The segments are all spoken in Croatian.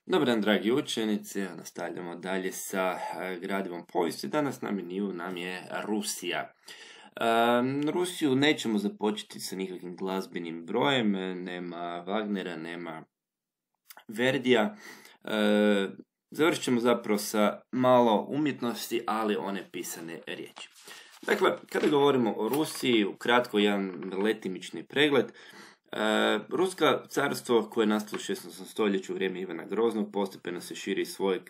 Dobar dan, dragi učenici, nastavljamo dalje sa gradivom povijesti. Danas na meniju nam je Rusija. Rusiju nećemo započeti sa nikakvim glazbenim brojem, nema Wagnera, nema Verdija. Završit ćemo zapravo sa malo umjetnosti, ali one pisane riječi. Dakle, kada govorimo o Rusiji, ukratko jedan letimični pregled. Ruska carstvo koje je nastalo u 16. stoljeću u vrijeme Ivana Groznog postepeno se širi iz svojeg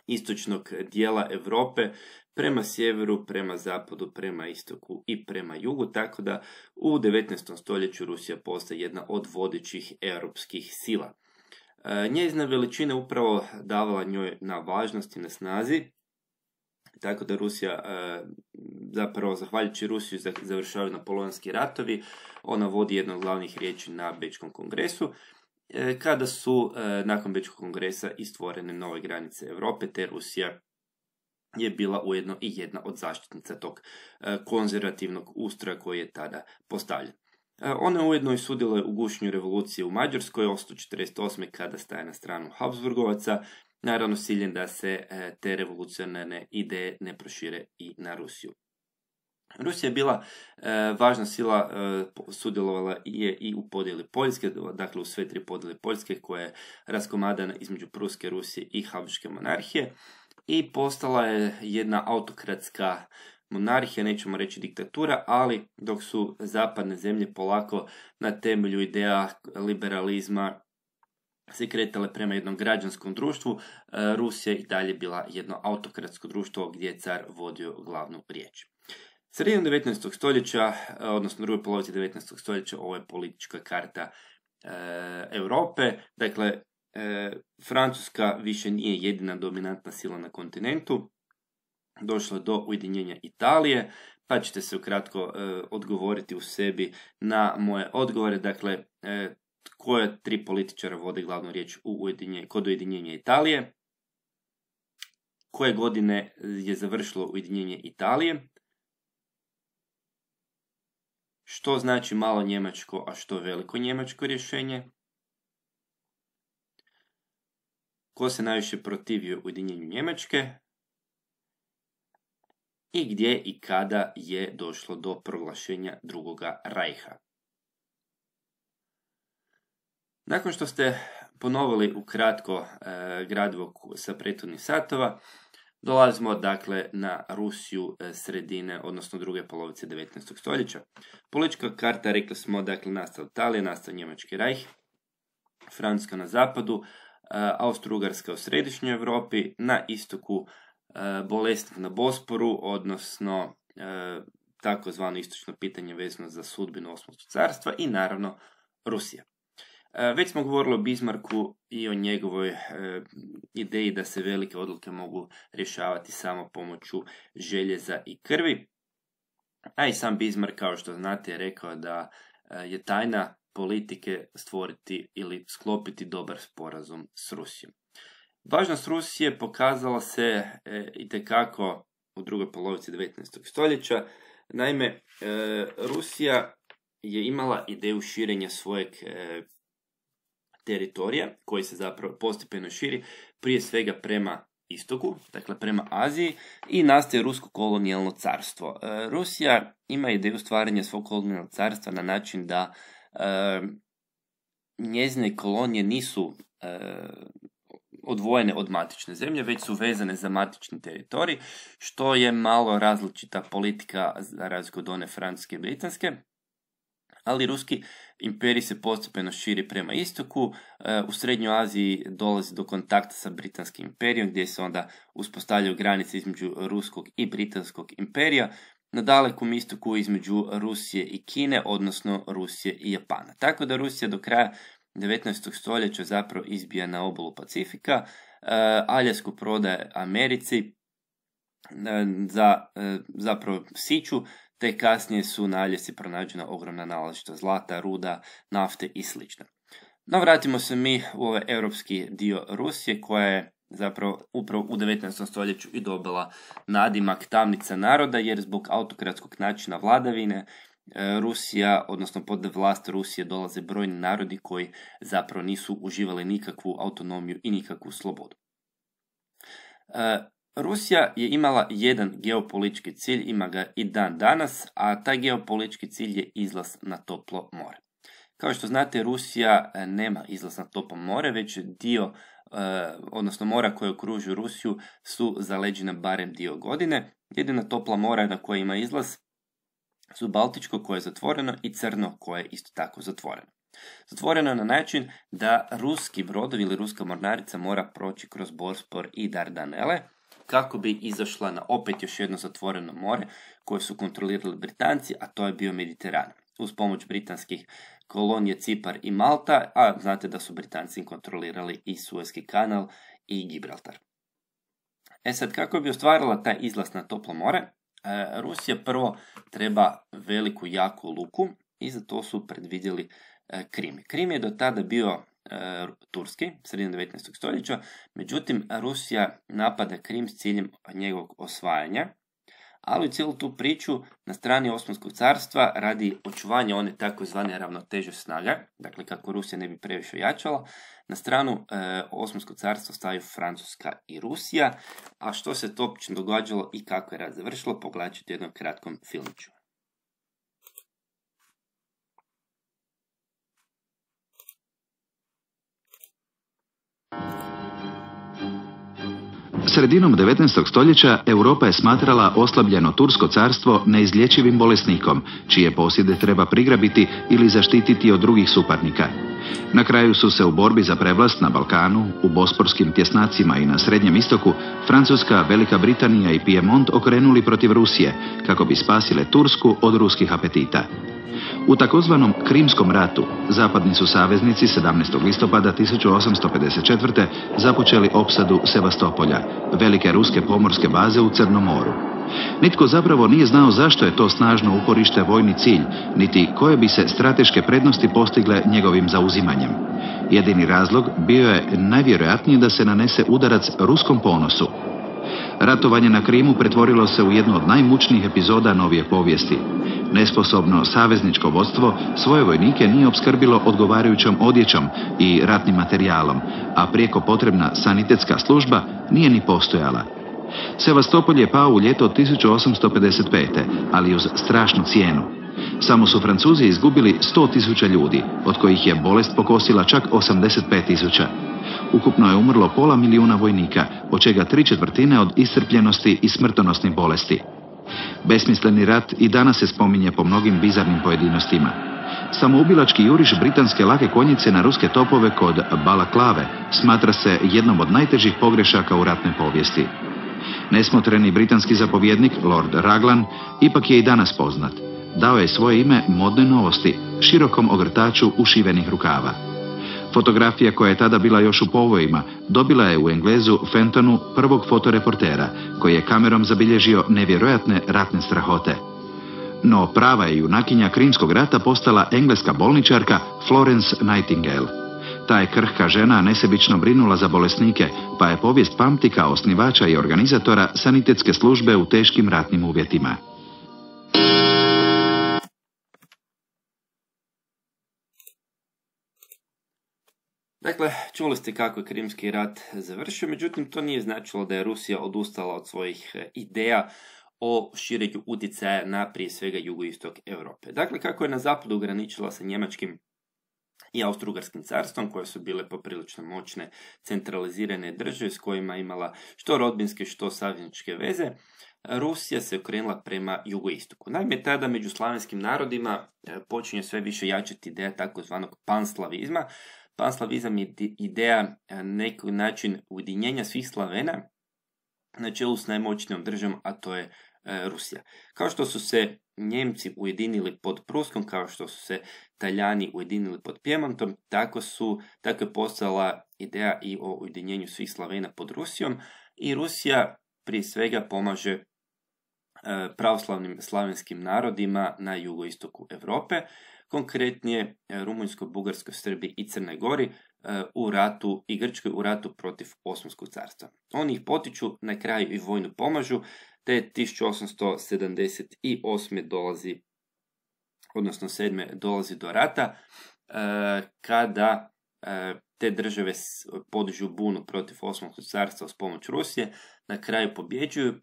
istočnog dijela Europe prema sjeveru, prema zapadu, prema istoku i prema jugu, tako da u 19. stoljeću Rusija postaje jedna od vodećih europskih sila. Njezina veličina upravo davala njoj na važnosti, na snazi, tako da Rusija, zapravo zahvaljujući Rusiju završavaju napoleonski ratovi. Ona vodi jednu od glavnih riječi na Bečkom kongresu, kada su nakon Bečkog kongresa i stvorene nove granice Europe, te Rusija je bila ujedno i jedna od zaštitnica tog konzervativnog ustroja koji je tada postavljen. Ona ujedno i sudjeluje u gušenju revolucije u Mađarskoj 848. kada staje na stranu Habsburgovaca, naravno s ciljem da se te revolucionarne ideje ne prošire i na Rusiju. Rusija je bila važna sila, sudjelovala je i u podjeli Poljske, dakle u sve tri podjele Poljske koja je raskomadana između Pruske, Rusije i Habsburške monarhije i postala je jedna autokratska monarhija, nećemo reći diktatura, ali dok su zapadne zemlje polako na temelju ideja liberalizma se kretale prema jednom građanskom društvu, Rusija i dalje bila jedno autokratsko društvo gdje je car vodio glavnu riječ. Sredinom 19. stoljeća, odnosno drugoj polovici 19. stoljeća, ovo je politička karta Europe. Dakle, Francuska više nije jedina dominantna sila na kontinentu. Došlo je do ujedinjenja Italije, pa ćete se ukratko odgovoriti u sebi na moje odgovore. Dakle, koje tri političara vode glavnu riječ kod ujedinjenja Italije? Koje godine je završilo ujedinjenje Italije? Što znači malo njemačko, a što veliko njemačko rješenje? Ko se najviše protivio ujedinjenju Njemačke? I gdje i kada je došlo do proglašenja Drugoga rajha? Nakon što ste ponovili ukratko gradivo sa prethodnih satova, dolazimo dakle na Rusiju sredine, odnosno druge polovice 19. stoljeća. Politička karta, rekli smo, dakle nastala Italija, nastao Njemački rajh, Francuska na zapadu, Austro-Ugarska u središnjoj Europi, na istoku bolesnik na Bosporu, odnosno takozvano istočno pitanje vezano za sudbinu Osmanskog carstva i naravno Rusija. Već smo govorili o Bismarcku i o njegovoj ideji da se velike odluke mogu rješavati samo pomoću željeza i krvi. A i sam Bismarck, kao što znate, je rekao da je tajna politike stvoriti ili sklopiti dobar sporazum s Rusijom. Važnost Rusije pokazala se itekako u drugoj polovici 19. stoljeća. Naime, Rusija je imala ideju širenja svojeg teritorija koji se zapravo postepeno širi, prije svega prema istoku, dakle prema Aziji, i nastaje Rusko kolonijalno carstvo. Rusija ima ideju stvaranja svog kolonijalnog carstva na način da njezine kolonije nisu odvojene od matične zemlje, već su vezane za matični teritorij, što je malo različita politika za razliku od one francuske i britanske. Ali ruski imperij se postepeno širi prema istoku, u Srednjoj Aziji dolazi do kontakta sa britanskim imperijom, gdje se onda uspostavljaju granice između ruskog i britanskog imperija, na dalekom istoku između Rusije i Kine, odnosno Rusije i Japana. Tako da Rusija do kraja 19. stoljeća zapravo izbija na obalu Pacifika, Aljasku prodaje Americi za zapravo siću, te kasnije su na Aljasci pronađena ogromna nalazišta zlata, ruda, nafte i sl. No, vratimo se mi u ovaj europski dio Rusije, koja je zapravo upravo u 19. stoljeću i dobila nadimak tamnica naroda, jer zbog autokratskog načina vladavine Rusija, odnosno pod vlast Rusije dolaze brojni narodi koji zapravo nisu uživali nikakvu autonomiju i nikakvu slobodu. Rusija je imala jedan geopolitički cilj, ima ga i dan danas, a taj geopolitički cilj je izlaz na toplo more. Kao što znate, Rusija nema izlaz na toplo more, već dio, odnosno mora koje okružuju Rusiju su zaleđena barem dio godine. Jedina topla mora na koje ima izlaz su Baltičko koje je zatvoreno i Crno koje je isto tako zatvoreno. Zatvoreno je na način da ruski brodovi ili ruska mornarica mora proći kroz Bospor i Dardanele kako bi izašla na opet još jedno zatvoreno more koje su kontrolirali Britanci, a to je bio Mediteran. Uz pomoć britanskih kolonija Cipar i Malta, a znate da su Britanci kontrolirali i Suezki kanal i Gibraltar. Sad, kako bi ostvarila taj izlaz na toplo more, Rusija prvo treba veliku jaku luku i za to su predvidjeli Krim. Krim je do tada bio turski, sredinom 19. stoljeća, međutim Rusija napada Krim s ciljem njegovog osvajanja, ali u cijelu tu priču na strani Osmanskog carstva radi očuvanja one takozvane ravnoteže snaga, dakle kako Rusija ne bi previše jačala, na stranu Osmanskog carstva stavaju Francuska i Rusija, a što se to uopće događalo i kako je rat završilo, pogledat ćete u jednom kratkom filmiću. Sredinom 19. stoljeća Europa je smatrala oslabljeno Tursko carstvo neizlječivim bolesnikom, čije posjede treba prigrabiti ili zaštititi od drugih suparnika. Na kraju su se u borbi za prevlast na Balkanu, u bosporskim tjesnacima i na Srednjem istoku, Francuska, Velika Britanija i Pijemont okrenuli protiv Rusije, kako bi spasile Tursku od ruskih apetita. U takozvanom Krimskom ratu zapadni su saveznici 17. listopada 1854. započeli opsadu Sevastopolja, velike ruske pomorske baze u Crnom moru. Nitko zapravo nije znao zašto je to snažno uporište vojni cilj, niti koje bi se strateške prednosti postigle njegovim zauzimanjem. Jedini razlog bio je najvjerojatnije da se nanese udarac ruskom ponosu. Ratovanje na Krimu pretvorilo se u jednu od najmučnijih epizoda novije povijesti. Nesposobno savezničko vodstvo svoje vojnike nije opskrbilo odgovarajućom odjećom i ratnim materijalom, a prijeko potrebna sanitetska služba nije ni postojala. Sevastopol je pao u ljeto 1855. ali uz strašnu cijenu. Samo su Francuzi izgubili 100.000 ljudi, od kojih je bolest pokosila čak 85.000. Ukupno je umrlo 500.000 vojnika, od čega 3/4 od iscrpljenosti i smrtonosnih bolesti. Besmisleni rat i danas se spominje po mnogim bizarnim pojedinostima. Samoubilački juriš britanske lake konjice na ruske topove kod Balaklave smatra se jednom od najtežih pogrešaka u ratnoj povijesti. Nesmotreni britanski zapovjednik, Lord Raglan, ipak je i danas poznat. Dao je svoje ime modnoj novosti, širokom ogrtaču ušivenih rukava. Fotografija koja je tada bila još u povojima dobila je u Englezu Fentonu prvog fotoreportera, koji je kamerom zabilježio nevjerojatne ratne strahote. No prava je junakinja Krimskog rata postala engleska bolničarka Florence Nightingale. Ta je krhka žena nesebično brinula za bolesnike, pa je povijest pamti kao osnivača i organizatora sanitetske službe u teškim ratnim uvjetima. Dakle, čuli ste kako je Krimski rat završio, međutim to nije značilo da je Rusija odustala od svojih ideja o širenju utjecaja na prije svega jugoistok Europe. Dakle, kako je na zapadu ograničila sa njemačkim i Austro-Ugarskim carstvom, koje su bile poprilično moćne centralizirane države s kojima imala što rodbinske, što savezničke veze, Rusija se okrenula prema jugoistoku. Naime, tada među slavenskim narodima počinje sve više jačati ideja takozvanog panslavizma. Panslavizam je ideja na neki način ujedinjenja svih Slavena na čelu s najmoćnijom državom, a to je Rusija. Kao što su se Njemci ujedinili pod Pruskom, kao što su se Talijani ujedinili pod Pjemontom, tako je postala ideja i o ujedinjenju svih Slavena pod Rusijom, i Rusija prije svega pomaže pravoslavnim slavenskim narodima na jugoistoku Europe, konkretnije Rumunjskoj, Bugarskoj, Srbiji i Crnoj Gori u ratu i Grčkoj u ratu protiv Osmanskog carstva. Oni ih potiču, na kraju i vojno pomažu, te 1878. dolazi odnosno 7. dolazi do rata, kada te države podižu bunu protiv Osmanskog carstva uz pomoć Rusije, na kraju pobjeđuju,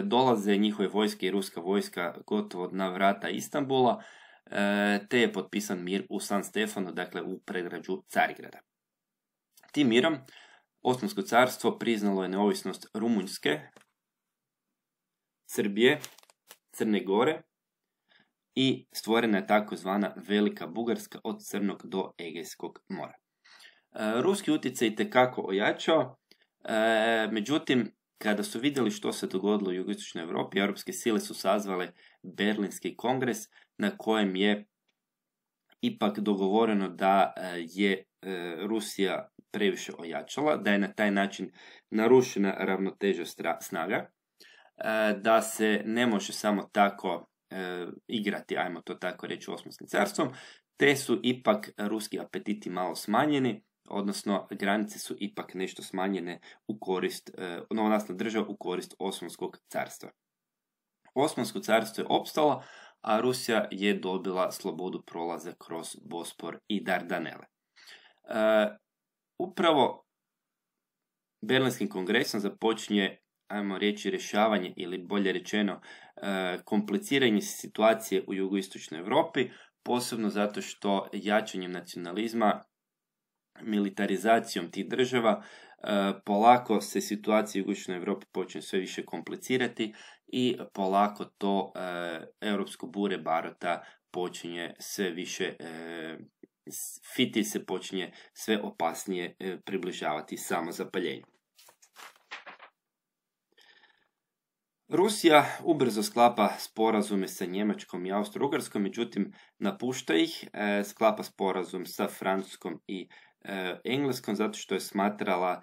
dolaze njihove vojske i ruska vojska gotovo na vrata Istanbula, te je potpisan mir u San Stefanu, dakle u predgrađu Carigrada. Tim mirom Osmansko carstvo priznalo je neovisnost Rumunjske, Srbije, Crne Gore i stvorena je takozvana Velika Bugarska od Crnog do Egejskog mora. Ruski utjecaj itekako ojačao, međutim, kada su vidjeli što se dogodilo u jugoistočnoj Europi, europske sile su sazvale Berlinski kongres na kojem je ipak dogovoreno da je Rusija previše ojačala, da je na taj način narušena ravnoteža snaga, da se ne može samo tako igrati, ajmo to tako reći, Osmanskim carstvom, te su ipak ruski apetiti malo smanjeni, odnosno granice su ipak nešto smanjene u korist, novonastalna država u korist Osmanskog carstva. Osmansko carstvo je opstalo, a Rusija je dobila slobodu prolaza kroz Bospor i Dardanele. Upravo Berlinskim kongresom započinje, ajmo reći, rješavanje ili bolje rečeno kompliciranje situacije u jugoistočnoj Europi, posebno zato što jačanjem nacionalizma, militarizacijom tih država, polako se situacija u jugoistočnoj Europi počne sve više komplicirati i polako to europsko bure barota počinje sve više, fiti se počinje sve opasnije približavati samozapaljenju. Rusija ubrzo sklapa sporazume sa Njemačkom i Austro-Ugarskom, međutim napušta ih, sklapa sporazum sa Francuskom i Engleskom zato što je smatrala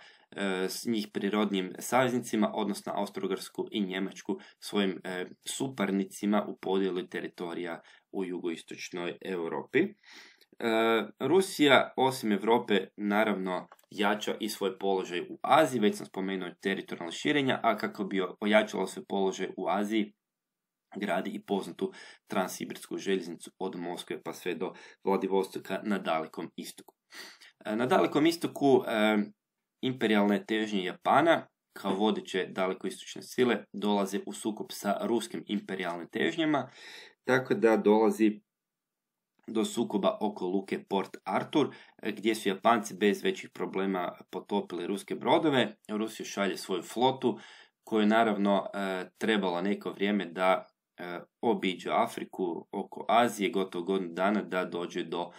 s njih prirodnim saveznicima, odnosno Austro-Ugarsku i Njemačku svojim suparnicima u podjeli teritorija u jugoistočnoj Europi. Rusija, osim Europe, naravno jača i svoj položaj u Aziji, već sam spomenuo teritorijalno širenja, a kako bi ojačala svoj položaj u Aziji, gradi i poznatu transsibirsku željeznicu od Moskve pa sve do Vladivostoka na Dalekom istoku. Na Dalekom istoku imperijalne težnje Japana kao vodeće dalekoistočne sile dolaze u sukob sa ruskim imperijalnim težnjama, tako da dolazi do sukoba oko luke Port Arthur, gdje su Japanci bez većih problema potopili ruske brodove. Rusija šalje svoju flotu, koju je naravno trebalo neko vrijeme da obiđe Afriku oko Azije, gotovo godinu dana da dođe do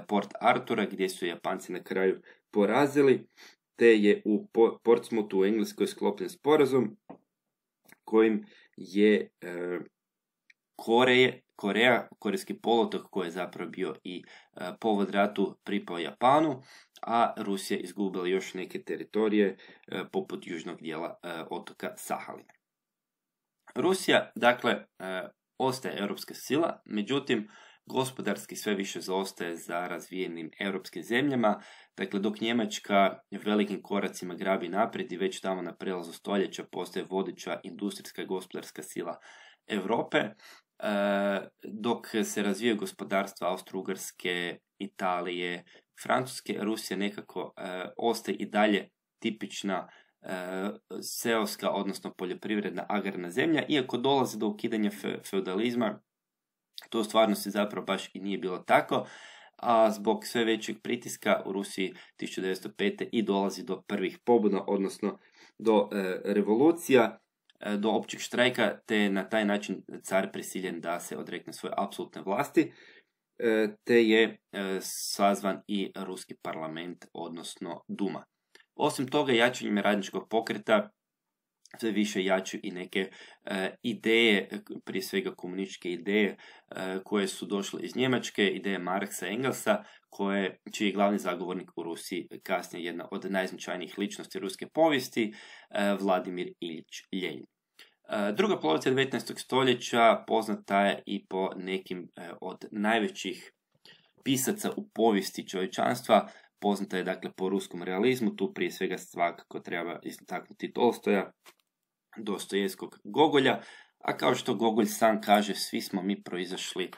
Port Artura, gdje su Japanci na kraju porazili, te je u Portsmouthu u Engleskoj sklopljen sporazum kojim je Korejski poluotok, koji je zapravo bio i povod ratu, pripao Japanu, a Rusija izgubila još neke teritorije poput južnog dijela otoka Sahalina. Rusija, dakle, ostaje europska sila, međutim, gospodarski sve više zaostaje za razvijenim europskim zemljama, dakle, dok Njemačka velikim koracima grabi naprijed i već tamo na prelazu stoljeća postaje vodeća industrijska i gospodarska sila Europe, dok se razvijaju gospodarstva Austro-Ugarske, Italije, Francuske, Rusija nekako ostaje i dalje tipična seoska, odnosno poljoprivredna agrarna zemlja, iako dolazi do ukidanja feudalizma, to u stvarnosti zapravo baš i nije bilo tako, a zbog sve većeg pritiska u Rusiji 1905. i dolazi do prvih pobuda, odnosno do revolucija, do općeg štrajka, te na taj način car prisiljen da se odrekne svoje apsolutne vlasti, te je sazvan i ruski parlament, odnosno Duma. Osim toga, jačanjem radničkog pokreta sve više jačaju i neke ideje, prije svega komunističke ideje, koje su došle iz Njemačke, ideje Marksa i Engelsa, čiji je glavni zagovornik u Rusiji kasnije jedna od najznačajnijih ličnosti ruske povijesti, Vladimir Iljič Ljenin. Druga polovica 19. stoljeća poznata je i po nekim od najvećih pisaca u povijesti čovječanstva. Poznata je dakle po ruskom realizmu, tu prije svega svakako treba istaknuti Tolstoja, Dostojevskog, Gogolja, a kao što Gogolj sam kaže, svi smo mi proizašli